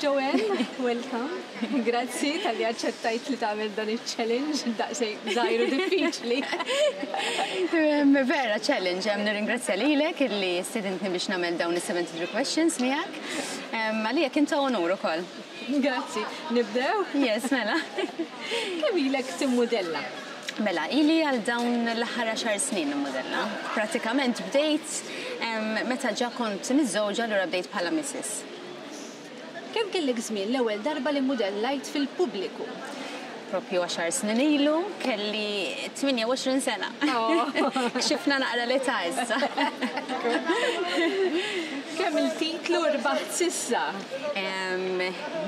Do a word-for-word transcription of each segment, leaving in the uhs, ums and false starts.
Joanne, welcome. Grazzi talli aċċettajt li tagħmel dan il-challenge daqsxejn żgħir u diffiċli. Vera challenge, hemm nirringrazzja lilek illi stidintni biex nagħmel dawn is-seventy-three questions miegħek. Għalija kien ta' onur ukoll. Grazzi. Nibdew? Yes, mela. Kemm ilek timmudella? Mela, ili għal dawn l-aħħar għaxar snin nimmudella. Pratikament bdejt meta ġa kont miżżewġa, allura bdejt bħala missus. Kemm kellek żmien l-ewwel darba li mmudellajt fil-pubbliku? Propju għaxar snin ilu, kelli tmienja u għoxrin sena. Kxifna naqra l-età issa. Kemm il-titlu rbaħt s'issa?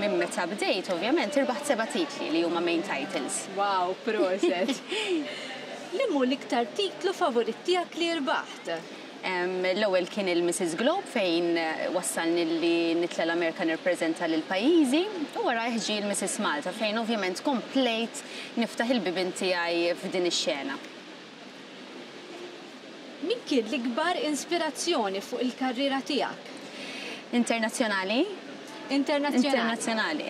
Minn meta bdejt, ovvjament, irbaħt seba' titli li huma main titles. Wow, proset. Liema hu l-iktar titlu favorit tiegħek li rbaħt? L-ewwel kien il-Missus Globe, fejn wassalni li nitla l-Amerika nirrepreżenta lil pajjiżi, u wara ġie l-Missus Malta, fejn ovvjament komplejt niftaħ il-bibien tiegħi f'din ix-xena. Min kien l-ikbar inspirazzjoni fuq il-karriera tiegħek? Internazzjonali? Internazzjonali. Internazzjonali.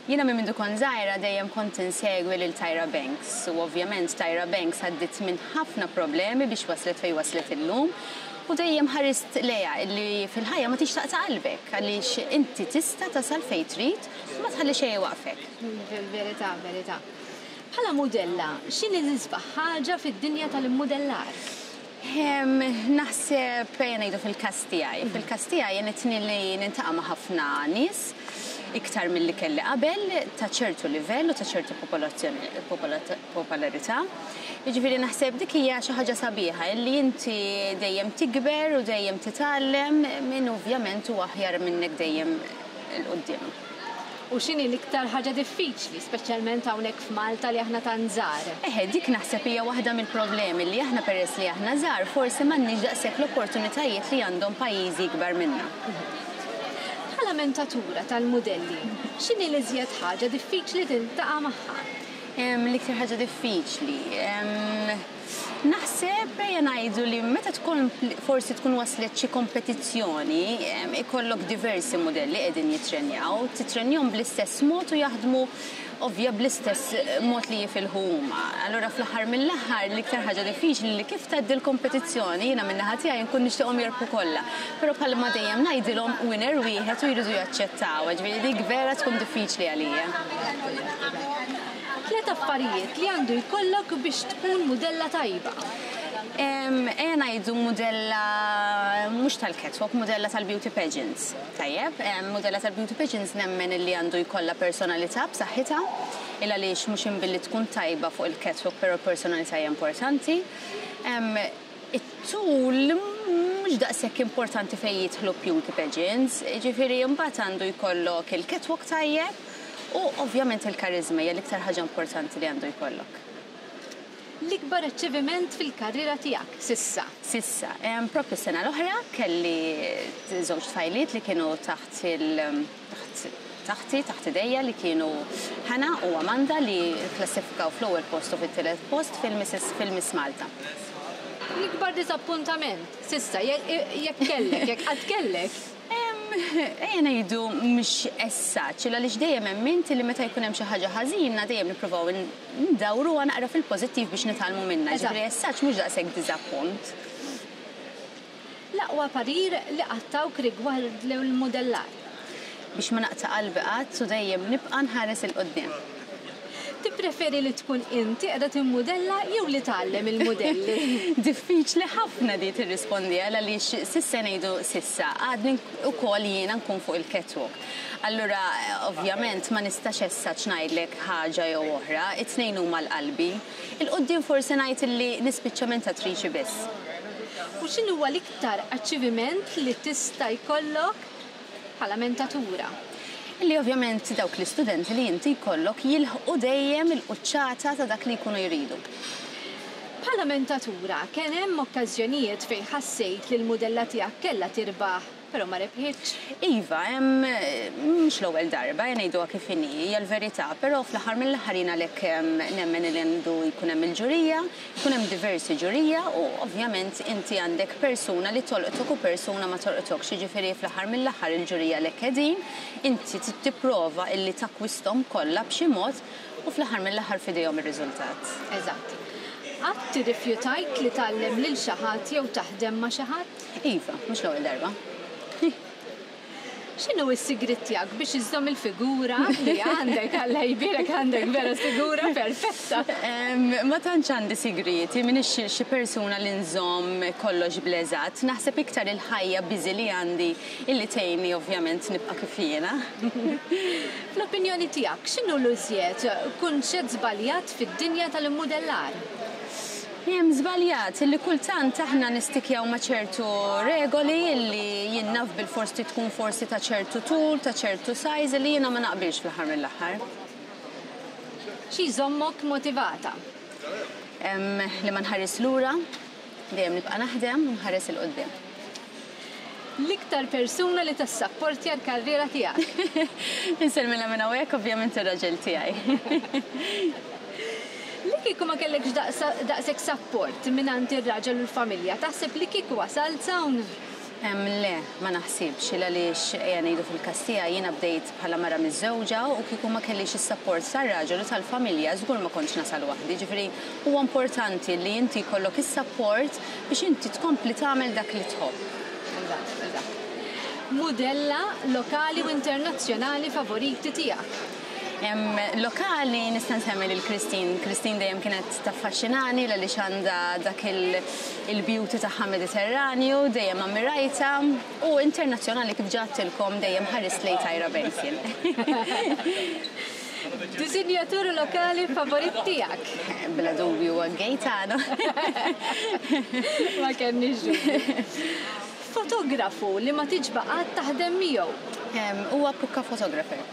Jiena minn mindu kont żgħira dejjem kont insegwi lil Tyra Banks, u ovvjament Tyra Banks għaddiet minn ħafna problemi biex waslet fejn waslet illum. U dejjem ħarist lejha li fil-ħajja ma tix taqta' qalbek, għaliex inti tista' tasal fejn trid u ma tħalli xejn iwaqqfek. Verità, verità. Bħala mudella, x'inhi l-isbaħ ħaġa fid-dinja tal-immudellar? Naħseb ejja ngħidu fil-każ tiegħi. Fil-każ tiegħi għenitni li niltaqa' ma' ħafna nies iktar milli kelli qabel, ta' ċertu livell u ta' ċertu popolarità. Jiġifieri naħseb dik hija xi ħaġa sabiħa li inti dejjem tikber u dejjem titgħallem minn ovvjament u aħjar minnek dejjem 'il quddiem. U x'inhi l-iktar ħaġa diffiċli, speċjalment hawnhekk f'Malta li aħna tant żgħar? Eħe, dik naħseb hija waħda mill-problemi, li aħna peress li aħna żgħar forsi m'għandniex daqshekk l-opportunitajiet li għandhom pajjiżi ikbar minna. Bħala mentatura tal-modelli, x'inhi l-iżjed ħaġa diffiċli tiltaqa' magħha? L-iktar ħaġa diffiċli. Naħseb ejja ngħidu li meta tkun forsi tkun waslet xi kompetizzjoni, ikollok diversi modelli qegħdin jitrenjaw, titrenjahom bl-istess mod u jaħdmu ovvja bl-istess mod li jifilħu huma. Allura fl-aħħar mill-aħħar l-iktar ħaġa diffiċli li kif tgħaddi l-kompetizzjoni, jiena min-naħa tiegħi nkun nixtieqhom jirbħu kollha. Però bħalma dejjem ngħidilhom, winner wieħed u jridu jaċċettaw, ġifieri dik vera tkun diffiċli għalija. Tliet affarijiet li għandu jkollok biex tkun mudella tajba. Ejja ngħidu mudella mhux tal-catwalk, mudella tal-beauty pageants. Tajjeb, mudella tal-beauty pageants nemmen li għandu jkollha personalità b'saħħitha, il għaliex mhux imbilli tkun tajba fuq il-catwalk, però personalità hija importanti. It-tul mhux daqshekk importanti fejn jidħlu beauty pageants, ġifieri mbagħad għandu jkollok il-catwalk tajjeb u ovvjament il-karizma hija l-iktar ħaġa importanti li għandu jkollok. L-ikbar achievement fil-karriera tiegħek s'issa? S'issa. Propju sena l-oħra kelli żewġ tfajliet li kienu taħt il taħt taħti, taħt idejja, li kienu Hannah u Amanda, li klassifikaw fl-ewwel post u fit-tielet post fil-Missus fil-Miss Malta. L-ikbar diżappuntament s'issa, jekk kellek, jekk qatt kellek? Ejja ngħidu mhux essaċ, għaliex dejjem emmint li meta jkun hemm xi ħaġa ħażina dejjem nippruvaw ndawruha naqra fil-pożittiv biex nitgħallmu minnha. Ġifieri essaċ mhux daqshekk diżappunt. L-aqwa parir li qatt tawk rigward l-modellar? Biex ma naqta' qalbi qatt u dejjem nibqa' nħares 'il quddiem. Tippreferi li tkun inti qiegħda timmudella jew li tgħallem il-modelli? Diffiċli ħafna di tirrispondi, għal għaliex s'issa, ngħidu s'issa, għadni wkoll jiena nkun fuq il-catwalk. Allura ovvjament ma nistax issa ngħidlek ħaġa jew oħra, it-tnejn huma għal qalbi. 'Il quddiem forsi ngħid li nispiċċa mentatriċi biss. U x'inhu huwa l-iktar achievement li tista' jkollok bħala mentatura? Li ovvjament dawk l-istudenti li inti jkollok jilħqu dejjem il-quċċata ta' dak li jkunu jridu. Bħala mentatura, kien hemm okkażjonijiet fejn ħassejt li l-mudella tiegħek kellha tirbaħ, però ma rebħitx? Iva, hemm mhux l-ewwel darba, ngħiduha kif inhi, hija l-verità, però fl-aħħar mill-aħħar jien għalhekk nemmen li għandu jkun hemm il-ġurija, jkun hemm diversi ġurija u ovvjament inti għandek persuna li tolqtok u persuna ma tolqtokx, jiġifieri fl-aħħar mill-aħħar il-ġurija lek qegħdin, inti tipprova illi takkwisthom kollha b'xi mod u fl-aħħar mill-aħħar f'idejhom ir-riżultat. Eżatt. Qatt tirrifjutajt li tgħallem lil xi ħadd jew taħdem ma' xi ħadd? Iva, mhux l-ewwel darba. X'inhu s-sigriet tiegħek biex iżżomm il-figura li għandek? Alla jbierek, għandek vera figura perfetta. Ma tantx għandi sigrieti, m'iniex xi persuna li nżomm kollox bl-eżatt. Naħseb iktar il-ħajja busy li għandi illi tgħinni ovvjament nibqa' kif jiena. Fl-opinjoni tiegħek, x'inhu l-iżjed kunċett żbaljat fid-dinja tal-immudellar? Hemm żbaljat illi kultant aħna nistikjaw ma' ċertu regoli illi jien naf bil-forsi tkun forsi ta' ċertu tul, ta' ċertu size illi jiena ma naqbilx fl-aħħar mill-aħħar. Xi jżommok motivata? Em, li ma nħares lura, dejjem nibqa' naħdem u nħares 'il quddiem. L-iktar persuna li tassapportja l-karriera tiegħek? Insellmilha minn hawnhekk ovvjament ir-raġel tiegħi. Li kieku ma kellekx daqshekk support mingħand ir-raġel u l-familja, taħseb li kieku wasalt hawn? Em, le, ma naħsibx, għaliex ejja ngħidu fil-każ tiegħi jiena bdejt bħala mara miżżewġa u kieku ma kellix is-support tar-raġel u tal-familja żgur ma kontx nasal waħdi. Ġifieri huwa importanti li inti jkollok is-support biex inti tkompli tagħmel dak li tħobb. Eżatt, eżatt. Mudella lokali u internazzjonali favoriti tiegħek? Em, lokali nista' nsemmi lil Christine. Christine dejjem kienet taffaxxinani għaliex għandha dak il-beauty tagħha Mediterranju, dejjem ammirajta, u internazzjonali kif ġattilkom dejjem ħares lejn Tyra Banks. Disinjatur lokali favorit tiegħek? Bla dubju huwa Gaetano. Ma kenniex dubju. Fotografu li ma tiġba' qatt taħdem miegħu? Em, huwa Pukka Photographer.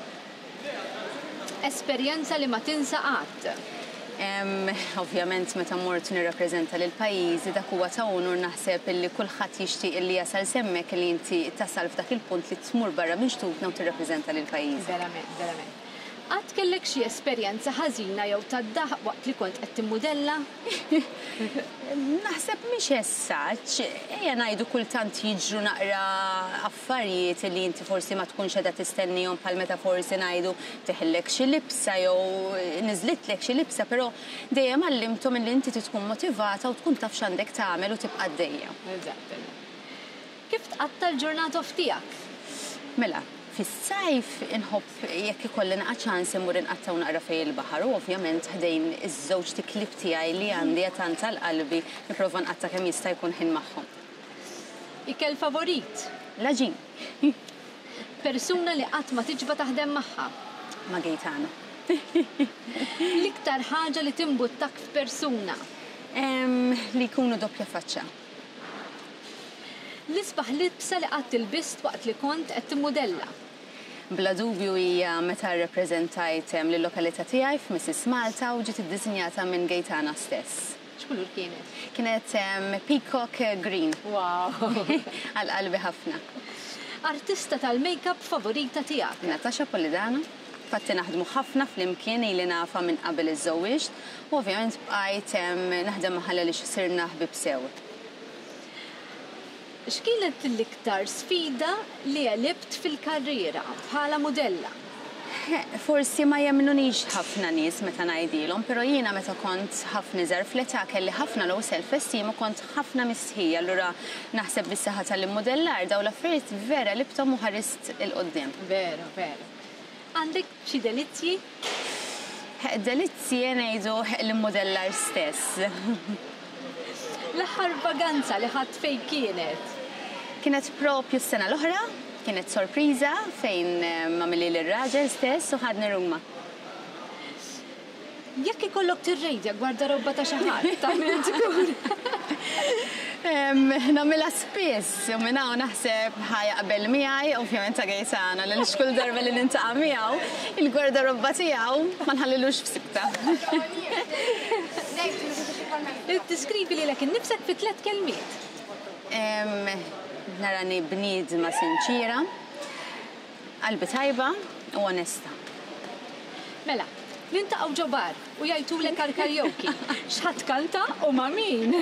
Esperjenza li ma tinsa qatt? Em, ovvjament meta mort nirrappreżenta lil pajjiżi dak huwa ta' unur naħseb illi kulħadd jixtieq illi jasal semmek li inti tasal f'dak il-punt li tmur barra minn xtutna u tirrappreżenta lil pajjiżi. Verament, verament. Qatt kellek xi esperjenza ħażina jew tad-daħq waqt li kont qed timmudella? Naħseb mhix essaċ, ejja ngħidu kultant jiġru naqra affarijiet li inti forsi ma tkunx qiegħda tistennihom bħal meta forsi ngħidu teħillek xi libsa jew niżlitlek xi libsa, però dejjem għallimthom illi inti tkun motivata u tkun taf x'għandek tagħmel u tibqa' għaddejja. Eżatt. Kif tqatta' l-ġurnata off tiegħek? Mela, fis-sajf inħobb jekk ikolli naqa' ċans immur inqattgħu naqra fejn il-baħar u ovvjament ħdejn iż-żewġ tiklieb tiegħi li għandi tant għal qalbi nipprova nqatta' kemm jista' jkun ħin magħhom. Ikel favorit? L-għaġin. Persuna li qatt ma tiġba taħdem magħha? Ma' Gaetano. L-iktar ħaġa li timbuttak f'persuna? Em, li jkunu doppja faċċa. L-isbaħ libsa li qatt ilbist waqt li kont qed timmudella? Bla dubju hija meta rrepreżentajt lill-lokalità tiegħi f'Missus Malta u ġiet iddisinjata minn Gaetana stess. X'kulur kienet? Kienet, em, peacock green. Wow! Għal qalbi ħafna. Artista tal-make-up favorita tiegħek? Natasha Polidano. Fatti naħdmu ħafna flimkien ili nafa minn qabel iż-żewġt u ovvjament bqajt, em, naħdem magħha li sirna ħbieb sew. X'kienet l-iktar sfida li għelibt fil-karriera bħala mudella? Forsi ma jemnunix ħafna nies meta ngħidilhom, però jiena meta kont ħafna iżgħar fl-età kelli ħafna low self-esteem u kont ħafna mistħija, allura naħseb bis-saħħa tal-immodellar dawn l-affarijiet vera għelibthom u ħarist 'il quddiem. Veru, veru. Għandek xi delizzji? Delizzji ngħidu l-immodellar stess. L-aħħar vaganza li ħadt fejn kienet? Kienet propju s-sena l-oħra, kienet sorpriża fejn, eh, għamilli l-raġel stess u ħadni Ruma. Jekk ikollok tirrejdja gwardarobba ta' xi ħadd, tagħmel tkun. Em, Nagħmilha spiss, u minn hawn naħseb ħa jaqbel miegħi, ovvjament ta' Gaetano, li kull darba li niltaqa' miegħu, il-gwardarobba tiegħu ma nħallilux f'sikta. Li tiskrivi lilek innifsek fi tliet kelmiet. Em, Narani bniedma sinċira, qalbi tajba u onesta. Mela, niltaqgħu ġo bar u jgħajtulek għal karaoke. X'ħa tkanta u ma' min?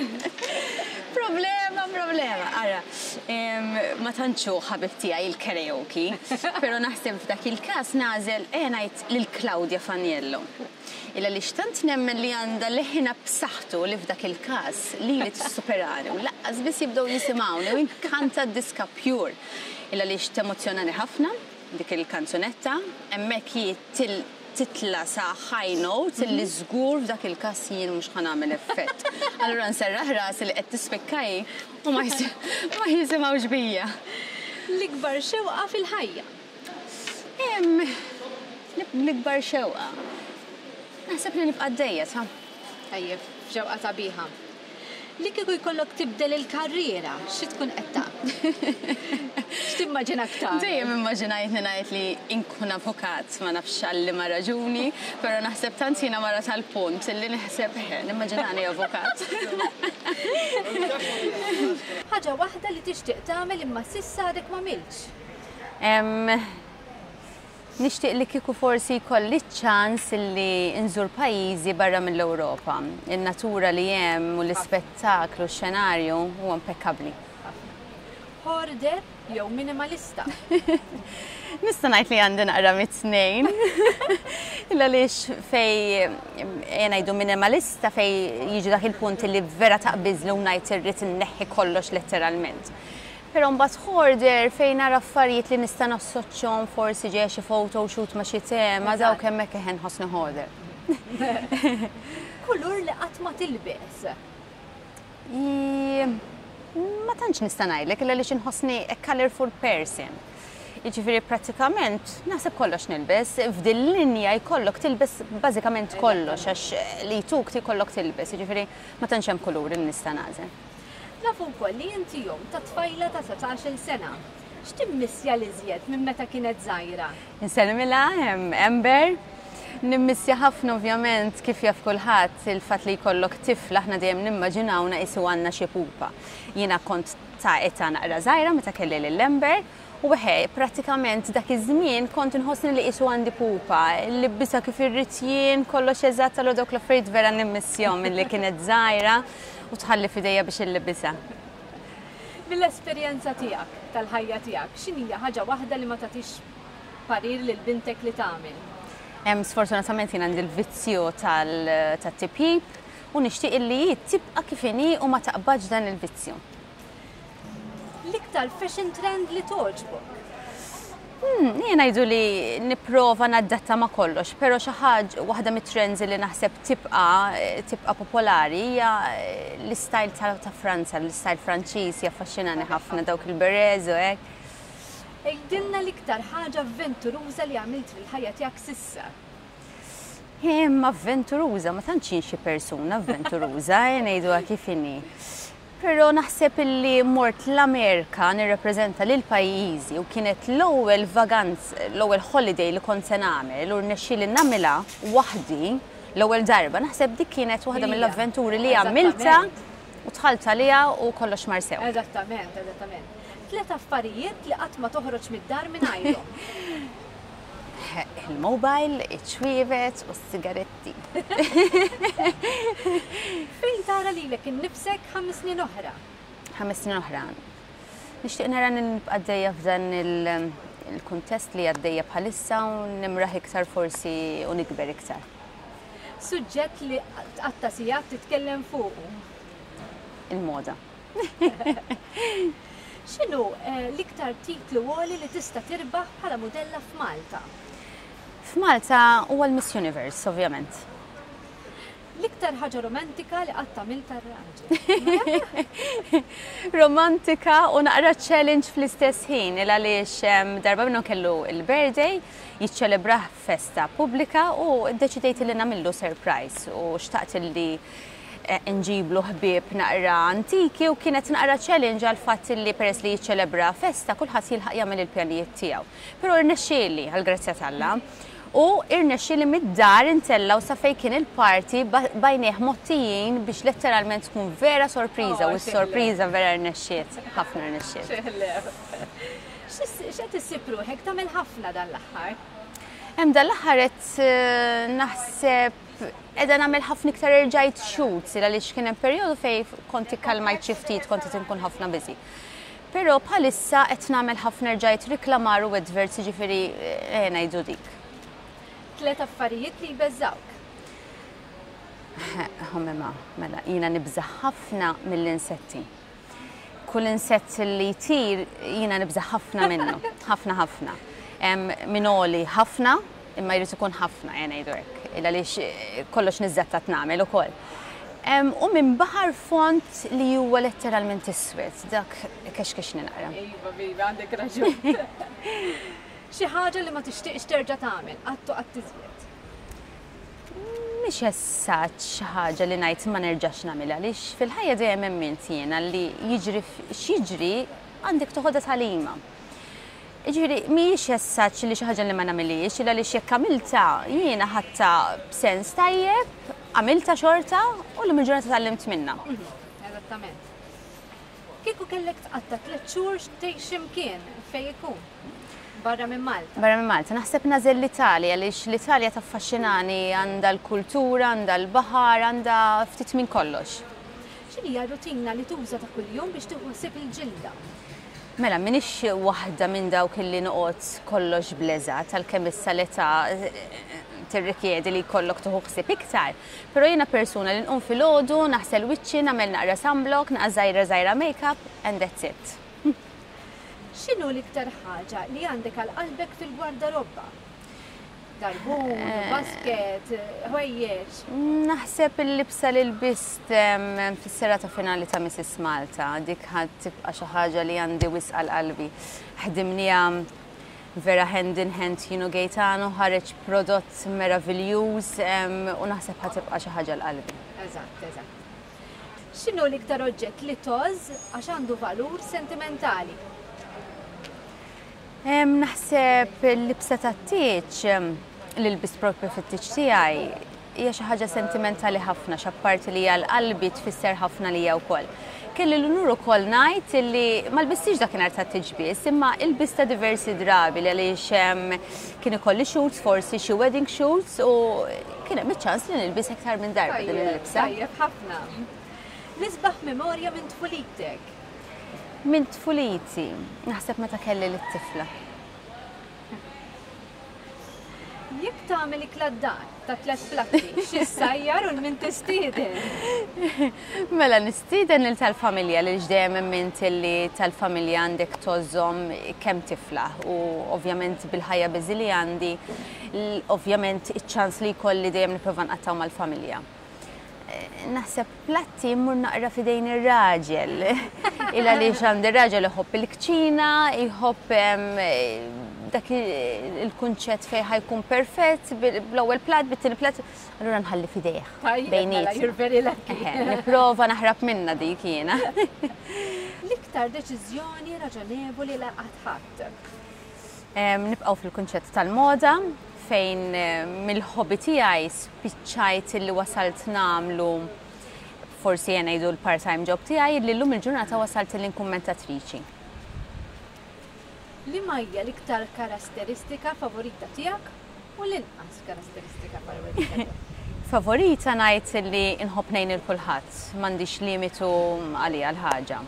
Problema, problema. Ara, em, ma tantx hu ħabib tiegħi il-karaoke, pero naħseb f'dak il-każ nagħżel e ngħid lil Claudia Faniello. Illa li xtant nemmen li għandha leħinha b'saħħtu li f'dak il-każ li li tissuperani u lanqas biss jibdew jisimgħuni u nkanta diska pure. Illa li temozzjonani ħafna dik il-kanzunetta, hemmhekk hi til titla sa high notes illi żgur f'dak il-każ jien mhux ħa nagħmel effett. Allura nserraħ rasi li qed tispikka hi u ma jis- ma jisimgħux bija. L-ikbar xewqa fil-ħajja. Em, L-ikbar xewqa. Naħseb li nibqa' għaddejja ta' Tajjeb, xewqa sabiħa. Li kieku jkollok tibdel il-karriera, xi tkun qed tagħmel? X'timmaġina aktar? Dejjem immaġinajt ngħid li inkun avukat, ma nafx għal liema raġuni, però naħseb tant jiena mara tal-punt illi naħseb eh, nimmaġinani avukat. Ħaġa waħda li tixtieq tagħmel imma s'issa għadek ma għamiltx. Em, Nixtieq li kieku forsi jkolli ċans li nżur pajjiżi barra mill-Ewropa. Il-natura li hemm u l-ispettaklu, x-xenarju huwa impeccabli. Hoarder jew minimalista. Nista' ngħid li għandi naqra mit-tnejn. Illa għaliex fejn ngħidu minimalista fejn jiġi dak il-punt li vera taqbiżli u ngħid irrid inneħħi kollox letteralment. Però mbagħad hoarder fejn nara affarijiet li nista' nassoċjahom, forsi ġejja xi photo shoot ma' xi tema, dawk hemmhekk eħen nħossni hoarder. Kulur li qatt ma tilbes. I- Ma tantx nista' ngħidlek illa għaliex inħossni a colorful person. Jiġifieri prattikament naħseb kollox nilbes, f'din linja jkollok tilbes bażikament kollox għax li tuk jkollok tilbes, jiġifieri ma tantx hemm kulur li nista' nagħżel. Nafu wkoll li inti omm ta' tfajla ta' sbatax-il sena. X'timmissja l-iżjed minn meta kienet żgħira? Insellmilha hemm Amber. Nimmissja ħafna, ovvjament, kif jaf kulħadd, il-fatt li jkollok tifla, aħna dejjem nimmaġinawna qisu għandna xi pupa. Jiena kont ta' età naqra żgħira meta kelli lil Amber u weħe prattikament dak iż-żmien kont inħossni li qisu għandi pupa, nlibbisha kif irrid jien, kollox eżatt, allura dawk l-affarijiet vera nimmissjahom milli kienet żgħira u tħalli f'idejja biex inlibbisha. Mill-esperjenza tiegħek, tal-ħajja tiegħek, x'inhija ħaġa waħda li ma tagħtix parir lil bintek li tagħmel? Em, Sfortunatament jien għandi l-vizzju tal-tipjip u nixtieq li tibqa' kif inhi u ma taqbadx dan il-vizzju. L-iktar fashion trend li togħġbok? Hmm, jien ngħidu li nipprova nadatta ma' kollox, però xi ħaġa waħda mit-trends li naħseb tibqa' tibqa' popolari hija l-istyle ta' ta' Franza, l-istyle Franċiż jaffaxxinani ħafna, dawk il-berets u hekk. Għidilna l-iktar ħaġa avventuruża li għamilt fil-ħajja tiegħek s'issa. Imma avventuruża, ma tantx jien xi persuna avventuruża, eh, ngħiduha kif inhi. Però naħseb illi mort l-Amerika nirrepreżenta lil pajjiżi u kienet l-ewwel vaganz, l-ewwel holiday li kont se nagħmel u rnexxieli nagħmilha waħdi l-ewwel darba. Naħseb dik kienet waħda Hija. mill-avventuri li għamilta u dħalt għaliha u kollox mar sew. Eżattament, eżattament. Tlet affarijiet li qatt ma toħroġ mid-dar mingħajrhom. Il-mobile, iċ-ċwievet u s-sigaretti. Fejn tara lilek innifsek ħames snin oħra? Ħames snin oħra. Nixtieq nara nibqa' għaddejja f'dan il- il-kuntest li għaddejja bħalissa u nimraħ iktar forsi u nikber iktar. Suġġett li tqatta' sigħat titkellem fuqu. Il-moda. X'inhu eh, l-iktar titlu għoli li tista' tirbaħ bħala modella f'Malta? F'Malta huwa l-Miss Universe, ovvjament. L-iktar ħaġa romantika li qatt għamilt għar-raġel. Romantika u naqra challenge fl-istess ħin, il għaliex em, darba minnhom kellu il-birthday, jiċċelebrah festa pubblika u ddeċidejt li nagħmillu surprise u xtaqt li eh, nġiblu ħbieb naqra antiki u kienet naqra challenge għal fatt li peress li jiċċelebra festa kulħadd jilħaq jagħmel il-pjanijiet tiegħu. Però rnexxieli għall-grazzja t'Alla. U irnexxieli mid-dar intellgħu sa fejn kien il-party b'għajnejh mgħottijin biex letteralment tkun vera sorpriża Oh, u s-sorpriża vera rnexxiet, ħafna rnexxiet. X'qed issib ruħek tagħmel ħafna dan l-aħħar? Hemm dan l-aħħar qed eh, naħseb qiegħda nagħmel ħafna iktar, erġajt shoots, għaliex kien hemm perjodu fejn kont ikkalmajt xi ftit, kont qed inkun ħafna busy. Però bħalissa qed nagħmel ħafna, erġajt riklamar u adverts, ġifieri eh, ngħidu dik. Tlet affarijiet li jbeżżawk. Homema, mela, jiena nibża ħafna mill-insetti. Kull insett li jtir, jiena nibża ħafna minnu, ħafna ħafna. Minn għoli ħafna, imma jrid ikun ħafna, jena ngħidu hekk, għaliex eh, kollox niżżattat nagħmel ukoll. U minn baħar fond li huwa letteralment iswed, dak kexkex naqra. Iva, iva, għandek raġun. Xi ħaġa li ma tixtieqx terġa' tagħmel, qatt u qatt iżjed. Mhix essaċ xi ħaġa li ngħid ma nerġax nagħmilha, għaliex fil-ħajja dejjem emmint jiena li jiġri x'jiġri għandek toħodha tagħlima. Ġifieri mhijiex essaċ li xi ħaġa li ma nagħmilhiex, illa li jekk għamilta jiena ħadtha b'sens tajjeb, għamilta xorta u l ġurnata tgħallimt minnha. Mhm, eżattament. Kieku kellek tqatta' tliet xhur tgħix x'imkien, fejn ikun? Barra minn Malta. Barra minn Malta. Naħseb nagħżel l-Italja, għaliex l-Italja taffaxxinani, għandha l-kultura, għandha l-baħar, għandha ftit minn kollox. X'inhi rutina li tuża ta' kuljum biex tieħu ħsieb il-ġilda? Mela, minix waħda minn dawk illi noqgħod kollox bleżat, għalkemm issa l-età eh, tirrikjedi li jkollok tieħu ħsieb iktar. Però jiena persuna li nqum filgħodu, naħsel wiċċi, nagħmel naqra sunblock, naqra żgħira żgħira make-up, and that's it. X'inhu l-iktar ħaġa li għandek għal qalbek fil-gwardarobba? Garbun, Eh. basket, ħwejjeġ. Naħseb il-libsa li lbist em, fis-serata finali ta' Missus Malta, dik ħad tibqa' xi ħaġa li għandi wisq għal qalbi. Ħdimniha vera hand in hand jien u Gaetano, ħareġ prodott meraviljuż em, u naħseb ħa tibqa' xi ħaġa għal qalbi. Eżatt, eżatt. X'inhu l-iktar oġġett li tgħożż għax għandu valur sentimentali? Em, Naħseb il-libsa tat-tieġ li lbist propju fit-tieġ tiegħi hija xi ħaġa sentimentali ħafna, x'apparti li hija l-qalbi tfisser ħafna li hija wkoll. Kelli l-unur ukoll ngħid li ma lbistix dakinhar tat-tieġ biss, imma ilbista diversi drabi li għaliex em, kien ikolli shoots, forsi xi wedding shoots, u kien hemm iċ-ċans li nilbis iktar minn darba din il-libsa. Tajjeb ħafna. L-isbaħ memorja minn tfulitek. Minn tfuliti, naħseb meta kelli lit-tifla. Jekk tagħmel ikla d-dar ta' tliet platti, xi ssajjar u min tistieden? Mela, nistieden lil tal-familja, li dejjem emmint li tal-familja għandek tgħożżhom kemm tiflaħ u ovvjament bil-ħajja busy li għandi, l- ovvjament iċ-ċans li jkolli dejjem nipprova nqattgħu mal-familja. Eh, Naħseb platti mmur naqra fidejn ir-raġel. Illa li għandi raġel iħobb il-kċina, iħobb em, dak il-kunċett fejn ħa jkun perfett, bl-ewwel plat, bit-tieni plat, allura nħalli fidejh. Tajjeb, mela, Bejnietna. you're very lucky. Eħe, nipprova naħrab minna dik jiena. L-iktar deċiżjoni raġonevoli li qatt ħadd. Em, Nibqgħu fil-kunċett tal-moda, fejn eh, mill-hobby tiegħi spiċċajt li wasalt nagħmlu, forsi jena ngħidu, l-part-time job tiegħi, li llum il-ġurnata wasalt li nkun kummentatriċi. Liema hija l-iktar karatteristika favorita tiegħek u l-inqas karatteristika favorita tiegħek? Favorita ngħid li nħobb ngħin lil kulħadd, m'għandix limitu għalija l-ħaġa.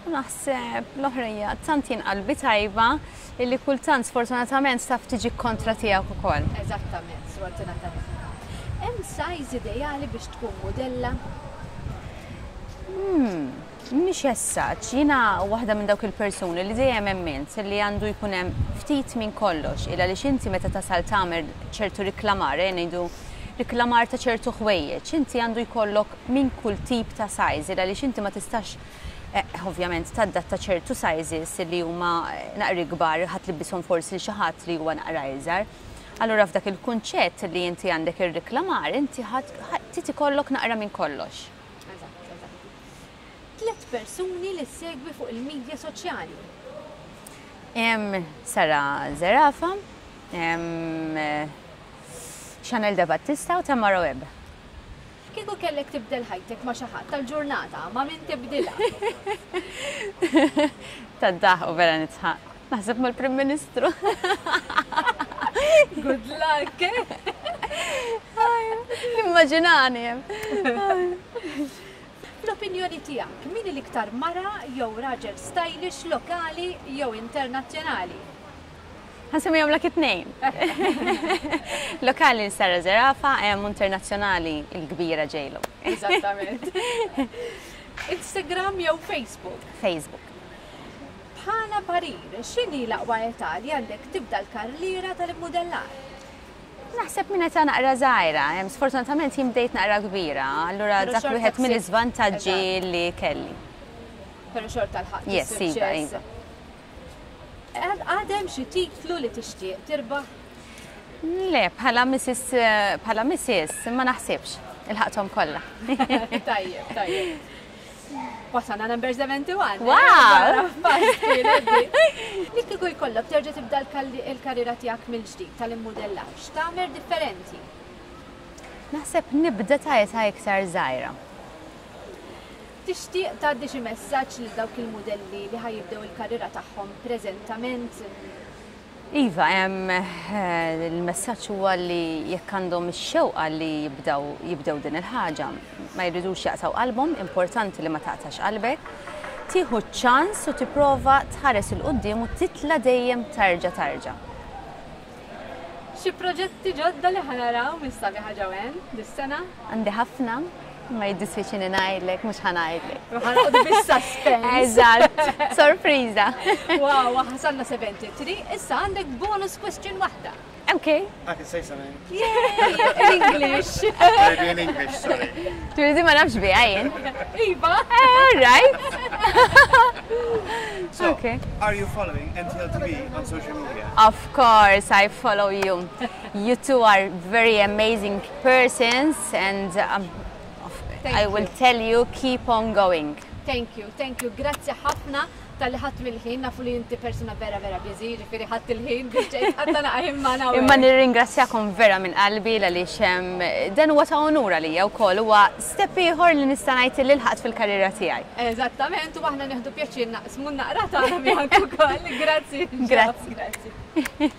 U naħseb l-oħra hija tant jien qalbi tajba illi kultant sfortunatament taf tiġi kontra tiegħek ukoll. Eżattament, sfortunatament. Hemm size ideali biex tkun modella? Mhix essaċ, jiena waħda minn dawk il-persuni li dejjem emmint li għandu jkun hemm ftit minn kollox, illa li inti meta tasal tagħmel ċertu riklamar, eh, ngħidu riklamar ta' ċertu ħwejjeġ, inti għandu jkollok minn kull tip ta' size, illa li inti ma tistax eh, ovvjament tadatta ċertu sizes li huma eh, naqri kbar, ħadd libbishom forsi xi ħadd li huwa naqra iżgħar. Allura f'dak il-kunċett li inti għandek ir-riklamar, inti ħadd trid ikollok naqra minn kollox. Eżatt, eżatt. Tliet persuni li segwi fuq il-medja soċjali. Hemm Sara Zerafa, hemm eh, Chanel De Battista u Tamara Webb. Kieku kellek tibdel ħajtek ma' xi ħadd tal-ġurnata, ma' min tibdilha? Tad-daħ u vera nidħaq. Naħseb mal-Prim Ministru. Good luck! Immaġinani. Fl-opinjoni tiegħek, min l-iktar mara jew raġel stylish lokali jew internazzjonali? Ħa nsemmihomlok it-tnejn. Lokali Sara Zerafa, hemm internazzjonali il-kbira J.Lo. Eżattament. Instagram jew Facebook? Facebook. Bħala parir, x'inhi l-aqwa età li għandek tibda l-karriera tal-modellar? Naħseb minn età naqra żgħira, hemm sfortunatament jien bdejt naqra kbira, allura Però dak xorta wieħed ksib- mill-iżvantaġġi Eżatt. li kelli. Però xorta lħaqt Yes, iva, is-suċċess. iva. Għadem xi titlu li tixtieq tirbaħ? Le, bħala Missus eh, bħala Missus ma naħsibx. Ilħaqthom kollha. Tajjeb, tajjeb. Wasalna number seventy-one. Wow! Li kieku jkollok terġa' tibda l-kalli- il-karriera tiegħek mill-ġdid tal-immodellar, x'tagħmel differenti? Naħseb nibda ta' età iktar żgħira. Tixtieq tgħaddi xi messaġġ lil dawk il-modelli li ħa jibdew il-karriera tagħhom preżentament? Iva, hemm eh, il-messaġġ huwa li jekk għandhom ix-xewqa li jibdew jibdew din il-ħaġa, ma jridux jaqtaw qalbhom, importanti li ma taqtax qalbek, tieħu ċans u tipprova tħares 'il quddiem u titla dejjem tarġa tarġa. Xi proġetti ġodda li ħa naraw mis-sabiħa Joanne dis-sena? Għandi ħafna, ma jiddispjaċini ngħidlek, mhux ħa ngħidlek. Ħa noqogħdu bis-suspense. Eżatt, sorpriża. Wow, wasalna sebgħa u sebgħin, issa għandek bonus question waħda. Okay. I can say something. Yay, in English. Maybe in English, sorry. Turizi ma nafx biha jien. Iva. All right. So, Okay. are you following M T L T V on social media? Of course, I follow you. You two are very amazing persons, and um, Thank I will you. tell you, keep on going. Thank you, thank you. Grazzi ħafna talli ħadt mill-ħin, nafu li inti persuna vera vera busy, ġifieri ħadt il-ħin biex ġejt ħatta naqahim magħna. Imma nirringrazzjakom vera minn qalbi għaliex em, dan huwa ta' onura lija wkoll, huwa step ieħor li nista' ngħid li lħaqt fil-karriera tiegħi. Eżattament, u aħna nieħdu pjaċir naqsmu naqra tagħna miegħek ukoll. Grazzi. Grazzi. Grazzi.